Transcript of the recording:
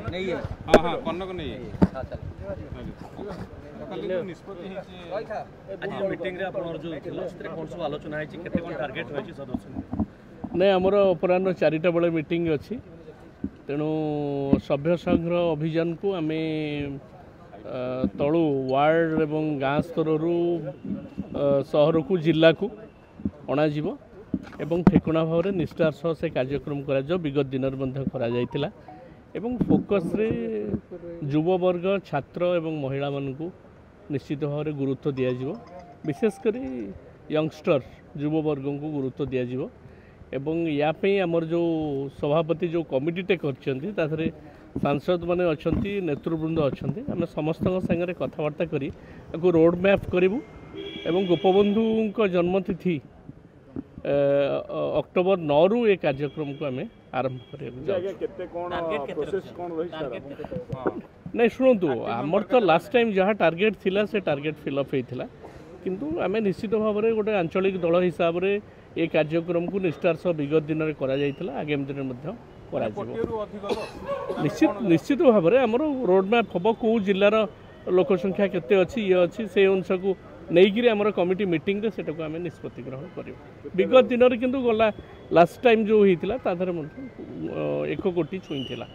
ହଁ ହଁ, କନକ ନେଇ କାଲି ଯୋଉ ନିଷ୍ପତ୍ତି ହେଇଛି। ଆଜି ଯୋଉ ମିଟିଂରେ ଆପଣଙ୍କର ଯୋଉ ଥିଲା, ସେଥିରେ କ'ଣ ସବୁ ଆଲୋଚନା ହେଇଛି? କେତେ କ'ଣ ଟାର୍ଗେଟ୍ ରହିଛି ସଦସ୍ୟଙ୍କୁ? ନାଇଁ, ଆମର ଅପରାହ୍ନ 4ଟା ବେଳେ ମିଟିଂ ଅଛି। ତେଣୁ ସଭ୍ୟ ସଂଘର ଅଭିଯାନକୁ ଆମେ ତଳୁ ୱାର୍ଡ଼ ଏବଂ ଗାଁ ସ୍ତରରୁ ସହରକୁ, ଜିଲ୍ଲାକୁ ଅଣାଯିବ ଏବଂ ଠିକଣା ଭାବରେ ନିଷ୍ଠାର ସହ ସେ କାର୍ଯ୍ୟକ୍ରମ କରାଯିବ। ବିଗତ ଦିନରେ ମଧ୍ୟ କରାଯାଇଥିଲା ଏବଂ ଫୋକସ୍ରେ ଯୁବବର୍ଗ, ଛାତ୍ର ଏବଂ ମହିଳାମାନଙ୍କୁ ନିଶ୍ଚିତ ଭାବରେ ଗୁରୁତ୍ୱ ଦିଆଯିବ। ବିଶେଷ କରି ୟଙ୍ଗଷ୍ଟର, ଯୁବବର୍ଗଙ୍କୁ ଗୁରୁତ୍ୱ ଦିଆଯିବ ଏବଂ ୟା ପାଇଁ ଆମର ଯେଉଁ ସଭାପତି ଯେଉଁ କମିଟିଟେ କରିଛନ୍ତି, ତା ଦେହରେ ସାଂସଦମାନେ ଅଛନ୍ତି, ନେତୃବୃନ୍ଦ ଅଛନ୍ତି। ଆମେ ସମସ୍ତଙ୍କ ସାଙ୍ଗରେ କଥାବାର୍ତ୍ତା କରି ତାକୁ ରୋଡ଼ ମ୍ୟାପ୍ କରିବୁ ଏବଂ ଗୋପବନ୍ଧୁଙ୍କ ଜନ୍ମତିଥି ଅକ୍ଟୋବର 9ରୁ ଏ କାର୍ଯ୍ୟକ୍ରମକୁ ଆମେ ଆରମ୍ଭ କରିବାକୁ ଯାଉଛୁ। କେତେ କ'ଣ ପ୍ରୋସେସ୍ କ'ଣ ରହିଛି ସାର୍? ନାଇଁ, ଶୁଣନ୍ତୁ, ଆମର ତ ଲାଷ୍ଟ ଟାଇମ୍ ଯାହା ଟାର୍ଗେଟ୍ ଥିଲା ସେ ଟାର୍ଗେଟ୍ ଫିଲ୍ଅପ୍ ହେଇଥିଲା। କିନ୍ତୁ ଆମେ ନିଶ୍ଚିତ ଭାବରେ ଗୋଟେ ଆଞ୍ଚଳିକ ଦଳ ହିସାବରେ ଏ କାର୍ଯ୍ୟକ୍ରମକୁ ନିଷ୍ଠାର ସହ ବିଗତ ଦିନରେ କରାଯାଇଥିଲା, ଆଗାମୀ ଦିନରେ ମଧ୍ୟ କରାଯିବ। କୋଟିଏରୁ ଅଧିକ ତ? ନିଶ୍ଚିତ ଭାବରେ ଆମର ରୋଡ଼ ମ୍ୟାପ୍ ହେବ। କେଉଁ ଜିଲ୍ଲାର ଲୋକ ସଂଖ୍ୟା କେତେ ଅଛି, ଇଏ ଅଛି, ସେଇ ଅନୁସାକୁ ନେଇକିରି ଆମର କମିଟି ମିଟିଂରେ ସେଟାକୁ ଆମେ ନିଷ୍ପତ୍ତି ଗ୍ରହଣ କରିବୁ। ବିଗତ ଦିନରେ କିନ୍ତୁ ଗଲା ଲାଷ୍ଟ ଟାଇମ୍ ଯେଉଁ ହେଇଥିଲା, ତା ଦେହରେ ମଧ୍ୟ 1 କୋଟି ଛୁଇଁଥିଲା।